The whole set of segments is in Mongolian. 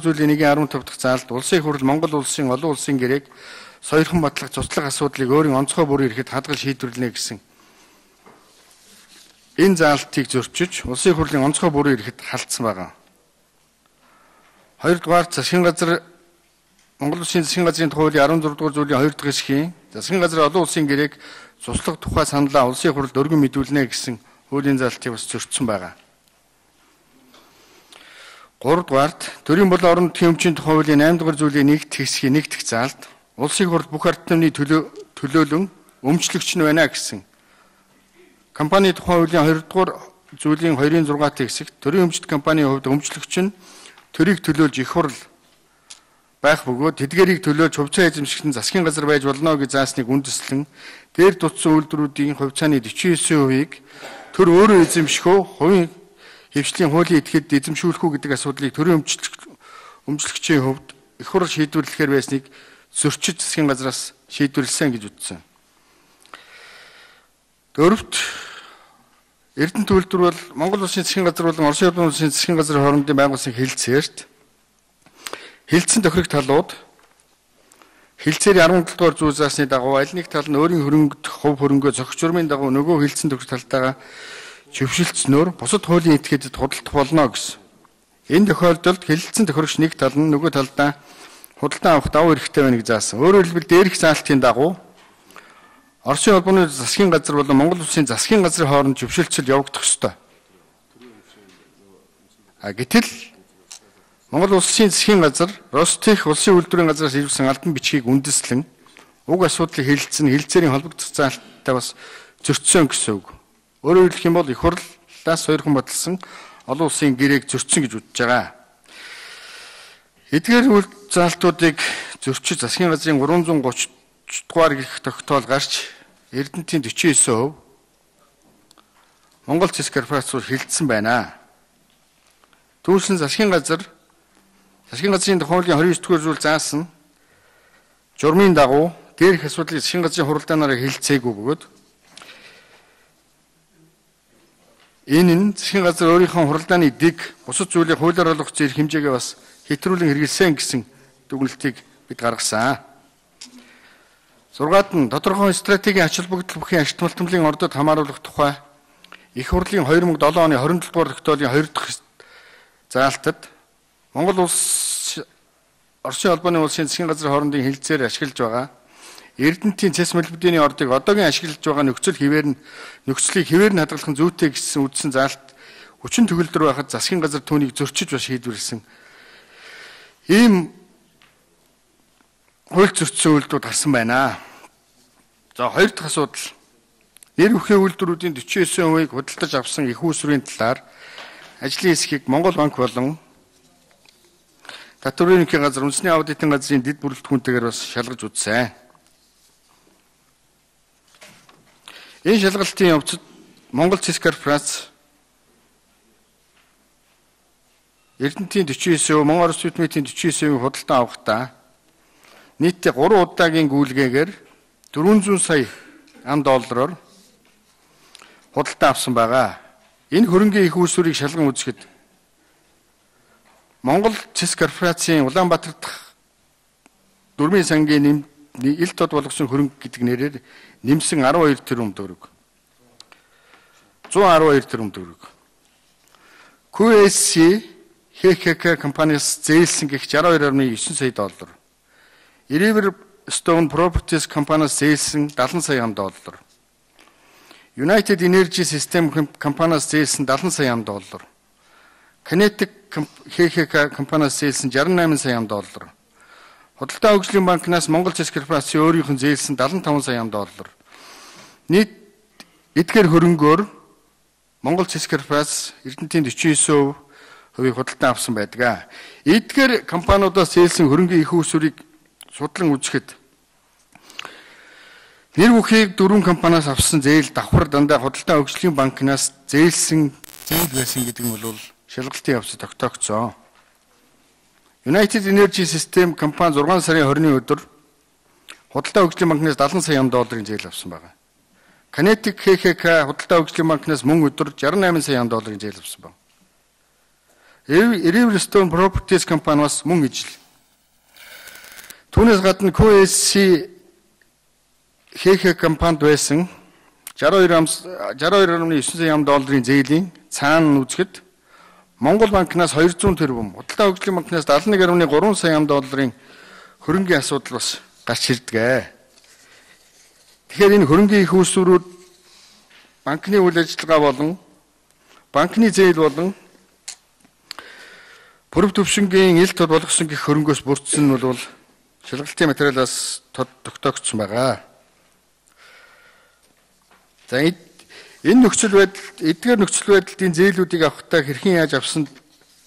Зүйлийн 1.15 дахь заалд улсын их хурл Монгол улсын олон улсын гэрээг соёрхон батлах цуцлах асуудлыг өөрийн онцгой бүрийн эрхэд хадгал шийдвэрлэнэ гэсэн энэ заалтыг зөрчиж улсын их хурлын онцгой бүрийн эрхэд халдсан байгаа. Хоёрдугаар засгийн газар Монгол Улсын засгийн газрын тухай 16 дугаар зүйлийн 2 дахь хэсгийн засгийн газар олон улсын гэрээг цуслах тухай саналаа улсын их хурлд өргөн мэдүүлнэ гэсэн хуулийн заалтыг бас зөрчсөн байгаа. 3 дугаарт төрийн болон орон нутгийн өмчийн тухай хуулийн 8 дугаар зүйлийн 1 дахь хэсгийн 1 дахь заалд улсын их хурл бүх ард түмний төлөөлөн өмчлөгч нь байна гэсэн компани тухай хуулийн 2 дугаар зүйлийн 2-ын 6-т хэсэгт төрийн өмчт компанийн хувьд өмчлөгч нь төрийг төлөөлж их хурл байх бөгөөд тэдгэрийг төлөөлж хувьцаа эзэмшигч нь засгийн газар байж болно гэж заасныг үндэслэн дээр дутсан үйлдвэрүүдийн хувьцааны 49%-ийг төр өөрөө эзэмших үү, хувийн хэвшлийн хуулийн этгээд эзэмшүүлэх үү гэдэг асуудлыг төрийн өмчлөгчийн хувьд их хурл шийдвэрлэхээр байсныг зөрчиж засгийн газраас шийдвэрлсэн гэж үзсэн. Дөрөвт Эрдэнэт үйлдвэр бол Монгол Улсын засгийн газар болон Орос улсын засгийн газрын хоорондын байгуулсан хэлэлцээрт хэлэлцэн тохирох талууд хэлэлцээрийн 17 дугаар зүйл заасны дагуу аль нэг тал нь өөрийн хөрөнгөд хувь хөрөнгөө зохиц журмын дагуу нөгөө хэлэлцэн тохирох талтайгаа зөвшөлдснөөр бусад хуулийн этгээдэд худалдах болно гэсэн. Энэ тохиолдолд хэлэлцэн тохирогч нэг тал нь нөгөө талдаа худалдан авах давуу эрхтэй байна гэж заасан. Өөрөөр хэлбэл дээрх заалтын дагуу Оросын холбооны засгийн газар болон Монгол Улсын засгийн газрын хооронд зөвшөлтсөл явагдах ёстой. Гэтэл Монгол Улсын засгийн газар Ростех улсын үйлдвэрийн газраас ирүүлсэн албан бичгийг үндэслэн уг асуудлыг хэлэлцэн хэлэлцээрийн холбогдох заалттай бас зөрчсөн гэсэн үг. Өөрөөр хэлэх юм бол их хурлаас соёрхон баталсан олон улсын гэрээг зөрчсөн гэж үзэж байгаа. Эдгээр үйл заалтуудыг зөрчиж засгийн газрын 330 дугаар гэрх тогтоол гарч Эрдэнэтийн 49% Монгол Цэс корпорациуд хилцсэн байна. Түүнчлэн засгийн газрын тухайлын 29 дугаар зүйл заасан журмын дагуу дээрх асуудлыг засгийн газрын хуралдаанаараа хэлэлцээгүй бөгөөд энэ нь засгийн газар өөрийнхөө хуралдааны дэг бусад зүйлийг хуулиар олгох зэрэг хэмжээгээ бас хэтрүүлэн хэрэгэлсэн гэсэн дүгнэлтийг бид гаргасан. 6-ад нь тодорхой стратегийн ач холбогдол бүхий ашигт малтмлын ордод хамааруулах тухай их хурлын 2007 оны 27 дугаар тогтоолын 2 дахь заалтад Монгол улс Оросын холбооны улсын засгийн газрын хоорондын хэлэлцээр ашиглаж байгаа Эрдэнэтийн цэс мөлбөдийн ордыг одоогийн ашиглаж байгаа нөхцөлийг хэвээр нь хадгалах нь зүйтэй гэсэн үздсэн заалт хүчин төгөлдөр байхад засгийн газар түүнийг зөрчиж бас шийдвэрлсэн. Ийм хууль зөрчсөн үйлдэлүүд гарсан байна. За хоёр дахь асуудал. Нэр бүхий үйлдвэрүүдийн 49%-ийг худалдаж авсан их үүсвэрийн талаар ажлын хэсгийг Монгол банк болон Татварын ерөнхий газар үндэсний аудитын газрын дэд бүрэлдэхүүнтэйгээр бас шалгаж үзсэн. Энэ шалгалтын явцад Монгол Цэс корпорац Эрдэнэтийн 49%, Монгол Орос Видмитийн 49%-ийг худалдан авахдаа нийтдээ 3 удаагийн гүйлгээгээр 400 сая $400 худалдан авсан байгаа. Энэ хөрөнгийн их үүсвэрийг шалган үзэхэд Монгол Цэс корпорацийн Улаанбаатар дахь дөрмийн сангийн ил тод болгосон хөрөнгө гэдэг нэрээр нэмсэн 12 тэрбум төгрөг. 112 тэрбум төгрөг. QSC HKK компаниас зээлсэн гэх $62.9 сая. River Stone Properties компаниас зээлсэн $70 сая. United Energy System компаниас зээлсэн $70 сая. Kinetic HKK компаниас зээлсэн $68 сая. Худалдаа хөгжлийн банкнаас Монгол Цэс корпорацийн өөрийнх нь зээлсэн $75 сая. Нийт эдгээр хөрөнгөөр Монгол Цэс корпорац Эрдэнэтийн 49% худалдан авсан байдаг. Эдгээр компаниудаас зээлсэн хөрөнгөний их үүсвэрийг судлан үзэхэд нэр бүхийг 4 компаниас авсан зээл давхар дандаа худалдаа хөгжлийн банкнаас зээлсэн зээл байсан гэдэг нь бол шалгалтын явцад тогтоогдсон. United Energy System компани 6 сарын 20-ны өдөр худалдаа хөгжлийн банкнаас $70 сая зээл авсан байна. Kinetic HKK худалдаа хөгжлийн банкнаас мөн өдөр $68 сая зээл авсан байна. Riverstone Properties компани бас мөн ижил. Түүнээс гадна QSC ХХ компанид байсан 62.9 сая долларын зээлийн цаана үзэхэд Монгол банкнаас 200 тэрбум, Худалдаа хөгжлийн банкнаас 71.3 сая долларын хөрөнгийн асуудал бас гарч ирдэг. Тэгэхээр энэ хөрөнгийн их үүсвэрүүд банкны үйл ажиллагаа болон банкны зээл болон бүрэг төвшингийн ил тод болгосон гэх хөрөнгөөс бүрдсэн нь бол шалгалтын материалаас тогтоогдсон байгаа. За энэ нөхцөл байдал, эдгээр нөхцөл байдлын зээлүүдийг авахдаа хэрхэн яаж авсан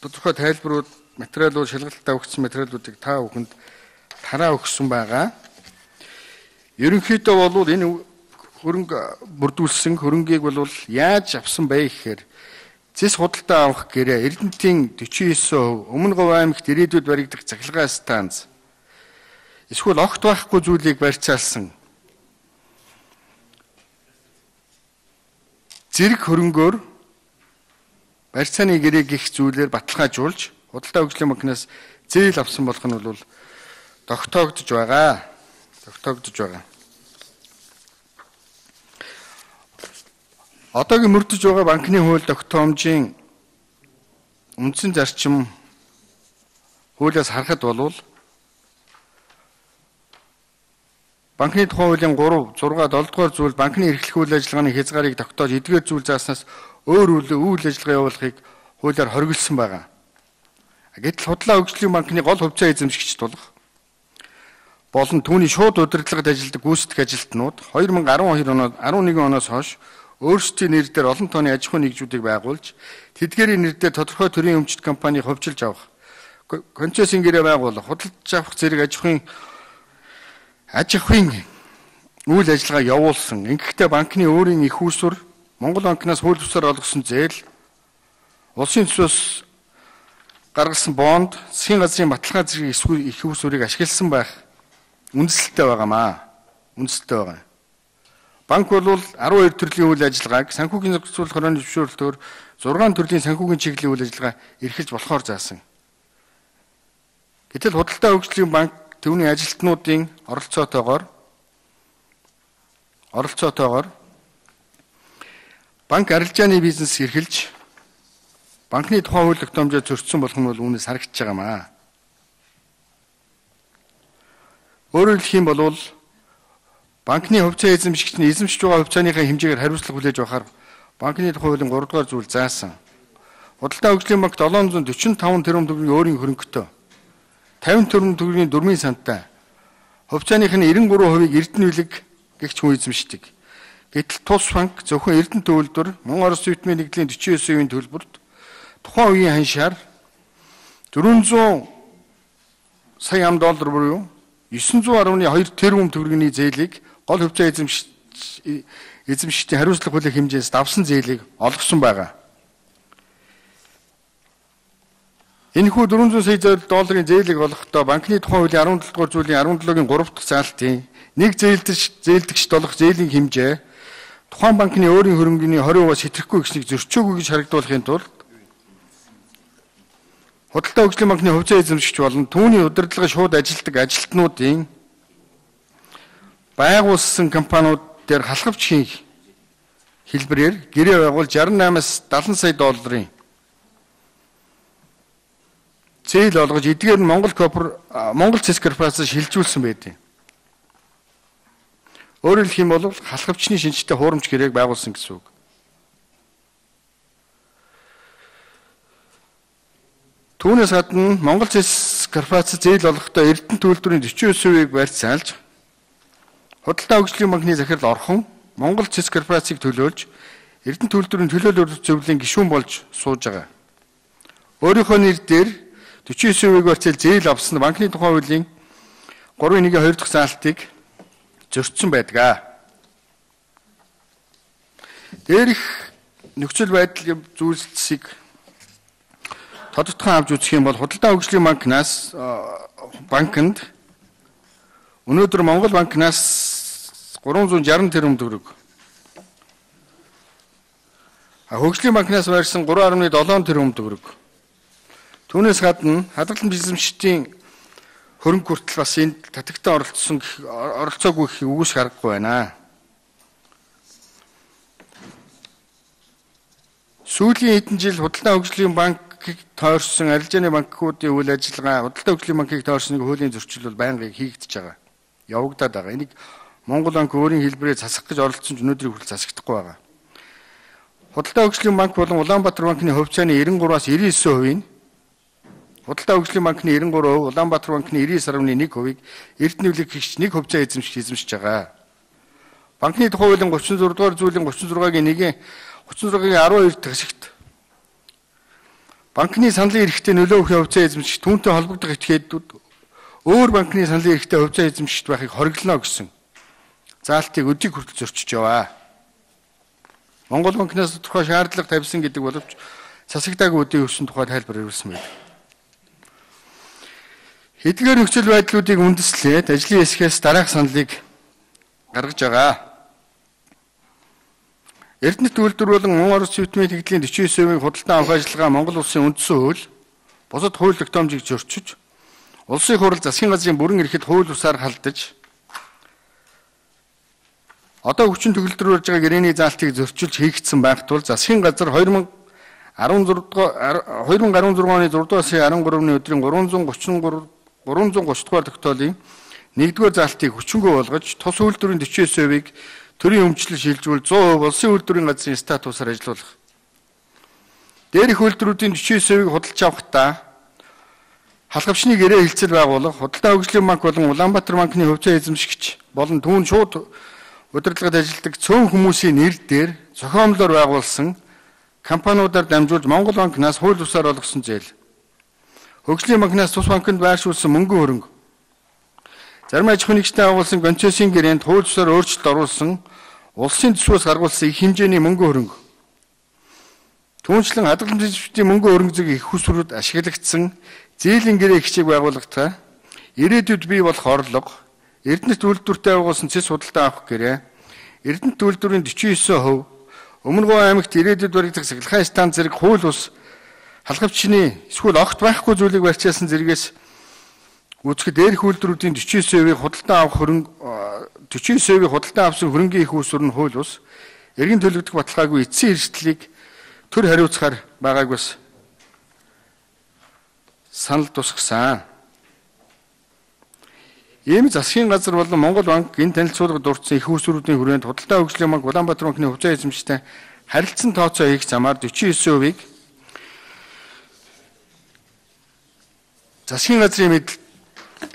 тодорхой тайлбарууд, материалууд, шалгалтад өгсөн материалуудыг та бүхэнд тараа өгсөн байгаа. Ерөнхийдөө бол энэ хөрөнгө бүрдүүлсэн хөрөнгийг бол яаж авсан бэ гэхээр зэс худалдаа авах гэрээ Эрдэнэтийн 49%, Өмнөговь аймагт ирээдүйд баригдах цахилгаан станц, эсвэл огт байхгүй зүйлийг барьцаалсан зэрэг хөрөнгөөр барьцааны гэрээг гих зүйлээр баталгаажуулж Худалдаа хөгжлийн банкнаас зээл авсан болох нь бол тогтоогдож байгаа. Одоогийн мөрдөж байгаа банкны хууль тогтоомжийн үндсэн зарчим хуулиас харахад бол банкны тухай хуулийн 3, 6, 7 дугаар зүйл банкны эрхлэх үйл ажиллагааны хязгаарыг тогтоож эдгээр зүйл зааснаас өөр үйл ажиллагаа явуулахыг хуулиар хориглосон байгаа. Гэтэл Худалдаа хөгжлийн банкны гол хувьцаа эзэмшигч тулах болон түүний шууд удирдлагад ажилладаг гүйцэтгэх ажилтнууд 2011 оноос хойш өөрсдийн нэр дээр олон тооны аж ахуйн нэгжүүдийг байгуулж тэдгээрийн нэр дээр тодорхой төрлийн өмчт компанийг ховжилж авах, концессийн гэрээ байгуулах, худалдаж авах зэрэг аж ахуйн үйл ажиллагаа явуулсан. Ингэхдээ банкны өөрийн их үүсвэр, Монгол банкнаас хууль бусаар олгосон зээл, улсын төсвөөс гаргасан бонд, засгийн газрын баталгаа зэрэг их үүсвэрийг ашигласан байх үндэслэлтэй байгаа. Банк бол 12 төрлийн үйл ажиллагааг санхүүгийн зохицуулах хорооны зөвшөөрлөөр 6 төрлийн санхүүгийн чиглэлийн үйл ажиллагаа эрхэлж болохоор заасан. Гэтэл Худалдаа хөгжлийн банк түүний ажилтнуудын оролцоотойгоор банк арилжааны бизнес эрхэлж банкны тухай хууль тогтоомжоо зөрчсөн болох нь бол үүнээс харагдаж байгаамаа. Өөрөөр хэлбэл банкны хувьцаа эзэмшигч нь эзэмшиж байгаа хувьцааныхаа хэмжээгээр хариуцлага хүлээж авахар банкны тухай хуулийн 3 дугаар зүйл заасан. Худалдаа хөгжлийн банк 745 тэрбум төгрөгийн өөрийн хөрөнгөтэй 50 тэрбум төгрөгийн дөрмийн сантай хувьцааных нь 93%-ийг Эрдэнэ билэг гэгч хүн эзэмшдэг. Гэтэл тус банк зөвхөн Эрдэнэ төвлөрдөр Монгол Орос Зүйтмийн нэгдлийн 49%-ийн төлбөрт тухайн үеийн ханшаар 400 сая доллар буюу 910.2 тэрбум төгрөгийн зээлийг гол хувьцаа эзэмшигчдийн хариуцлага хүлээх хэмжээс давсан зээлийг олгосон байгаа. Энэхүү 400 сая долларын зээлийг олгохдоо банкны тухай хуулийн 17 дугаар зүйлийн 17-гийн 3 дахь заалтын нэг зээлдэгчд олох зээлийн хэмжээ тухайн банкны өөрийн хөрөнгөний 20%-аас хэтрэхгүй гэснийг зөрчөөгүй гэж харагдуулахын тулд Худалдаа хөгжлийн банкны хувьцаа эзэмшигч болон түүний удирдлагыг шууд ажилтдаг ажилтнуудын байгуулсан компаниуд дээр халахвчхийн хэлбэрээр гэрээ байгуул 68-аас 70 сая долларын зээл олгож эдгээр нь Монгол Цэс корпорацаас шилжүүлсэн байдаг. Өөрөөр хэлбэл халахвчны шинжтэй хуурамч гэрээг байгуулсан гэсэн үг. Түүнээс гадна Монгол Цэс корпорац зээл олгохдоо Эрдэнэ төлбөрийн 49%-ийг барьцаалж Худалдаа хөгжлийн банкны захирал орхон Монгол Цэс корпорацийг төлөөлж Эрдэнэ төлбөрийн төлөөлөл зөвлөлийн гишүүн болж сууж байгаа. Өөрийнхөө нэр дээр 49%-ийг барьцаал зээл авсан банкны тухай хуулийн 3.1-2 дахь заалтыг зөрчсөн байдаг. Дээрх нөхцөл байдал зүйлсийг тодотгоон авч үзэх юм бол Худалдаа хөгжлийн банкнаас банкнд өнөөдөр Монгол банкнаас 360 тэрбум төгрөг, хөгжлийн банкнаас барьсан 3.7 тэрбум төгрөг, Түүнээс гадна хадгалан эзэмшигчдийн хөрөнгө хүртэл бас энд татагтаа оролцоогүй гэхийг үгүйсэх аргагүй байна. Сүүлийн хэдэн жил Худалдаа хөгжлийн банкыг тойрсон арилжааны банкуудын үйл ажиллагаа Худалдаа хөгжлийн банкыг тойрсон хуулийн зөрчил бол байнгын хийгдэж байгаа. Явагдаад байгаа. Энийг Монгол банк өөрийн хэлбэрээр засах гэж оролдсон ч өнөөдрийг хүртэл засагдахгүй байгаа. Худалдаа хөгжлийн банк болон Улаанбаатар банкны хувьцааны 93-аас 99%-ийг Худалдаа хөгжлийн банкны 93%, Улаанбаатар банкны 99.1%-ийг Эрдэнэвлэг гэгч нэг хувьцаа эзэмшиж байгаа. Банкны тухай хуулийн 36 дугаар зүйлийн 36-гийн 36-гийн 12 дахь хэсэгт банкны саналын эрхтэй нөлөө өгөх хувьцаа эзэмшигч түүнтэй холбогдох этгээдүүд өөр банкны саналын эрхтэй хувьцаа эзэмшигч байхыг хориглоно гэсэн заалтыг өдийг хүртэл зөрчиж яваа. Монгол банкнаас тухай шаардлага тавьсан гэдэг боловч засагдаагүй үдийн өссөн тухай тайлбар өгсөн байна. Эдгээр нөхцөл байдлуудыг үндэслээд ажлын хэсгээс дараах саналыг гаргаж байгаа. Эрдэнэт үйлдвэр болон мөн орос зүйтмийн тэгдлийн 49%-ийг худалдан авах ажиллагаа Монгол улсын үндсэн хууль, бусад хууль тогтоомжийг зөрчиж, улсын хурал засгийн газрын бүрэн эрхэд хууль бусаар халдаж, одоо хүчин төгөлдрүүлж байгаа гэрээний заалтыг зөрчилж хийгдсэн байх тул засгийн газар 2016 оны 6 дугаар сарын 13-ны өдрийн 330 дугаар тогтоолын 1-р заалтыг хүчингүй болгож тус үйлдвэрийн 49%-ийг төрийн өмчлөл шилжүүл 100% улсын үйлдвэрийн газрын статусаар ажилуулах. Дээрх үйлдвэрүүдийн 49%-ийг худалдаж авахдаа халхавчны гэрээ хэлцэл байгуулах, Худалдаа хөгжлийн банк болон Улаанбаатар банкны хувьцаа эзэмшигч болон түүн шууд удирдлагад ажилладаг цөөн хүмүүсийн нэр дээр зохиомлоор байгуулсан компаниудаар дамжуулж Монгол банкнаас хууль бусаар олгосон зээл. Хөгжлийн банкнаас тус банкнд байршуулсан мөнгөн хөрөнгө. Зарим аж ахуйн нэгжтэй агуулсан концессийн гэрээнд хууль бусаар өөрчлөлт оруулсан улсын төсвөөс гаргуулсан их хэмжээний мөнгөн хөрөнгө. Түүнчлэн хадгалан эзэмшигчдийн мөнгөн хөрөнгө зэг их усрууд ашиглагдсан зээлийн гэрээ хичээг байгууллагатай ирээдүйд бий болох орлого, Эрдэнэт үйлдвэртэй байгуулсан цэс худалдаа авах гэрээ, Эрдэнэт үйлдвэрийн 49%, Өмнөгов аймагт ирээдүйд баригдах сахилгаан станц зэрэг хууль бус халхавчны эсвэл огт байхгүй зүйлийг барьцаасан зэрэгээс үүсгэд дээрх үйлдвэрүүдийн 49%-ийг худалдаа авах хөрөнгө 49%-ийг худалдаа авсан хөрөнгийн их усүр нь хууль бус эргэн төлөгдөх баталгаагүй эцсийн эрсдлийг төр хариуцахаар байгааг бас санал тусгасан. Ийм засгийн газар болон Монгол банк энэ танилцуулгад дурдсан их усүрүүдийн хүрээнд Худалдаа хөгжлийн банк Улаанбаатар банкны хувьцаа эзэмшигчтэй харилцан тооцоо хийх замаар 49%-ийг засгийн газрын мэдл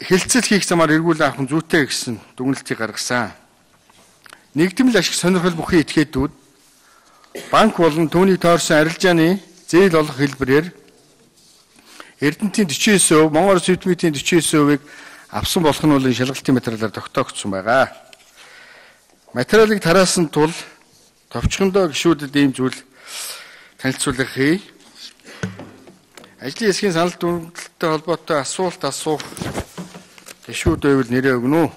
хэлцэл хийх замаар эргүүл авах нь зүйтэй гэсэн дүгнэлтийг гаргасан. Нэгдмэл ашиг сонирхол бүхий этгээдүүд банк болон түүнийг тойрсон арилжааны зээл олох хэлбэрээр Эрдэнэтийн 49%, Монгол Орос зүйтмийн 49%-ийг авсан болох нь бол шалгалтын материалаар тогтоогдсон байгаа. Материалыг тараасан тул товчхондоо гишүүдэд ийм зүйл танилцуулга хий. Ажлын хэсгийн санал дүгнэлттэй холбоотой асуулт асуух гишүүд байвал нэрээ өгнө үү?